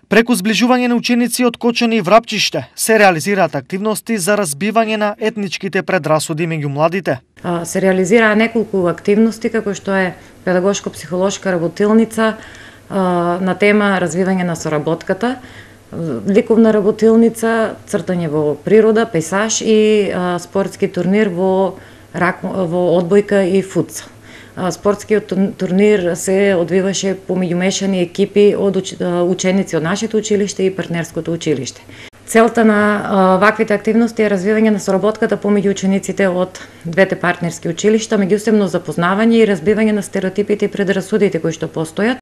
Преку зближување на ученици од Кочани и Врапчиште се реализираат активности за разбивање на етничките предрасуди меѓу младите. Се реализираа неколку активности, како што е педагошко-психолошка работилница на тема развивање на соработката, ликовна работилница, цртање во природа, пейсаж и спортски турнир во одбојка и футсал. Спортскиот турнир се одвиваше помеѓу мешани екипи од ученици од нашето училиште и партнерското училиште. Целта на ваквите активности е развивање на соработката помеѓу учениците од двете партнерски училишта, меѓусебно запознавање и разбивање на стереотипите и предрасудите кои што постојат,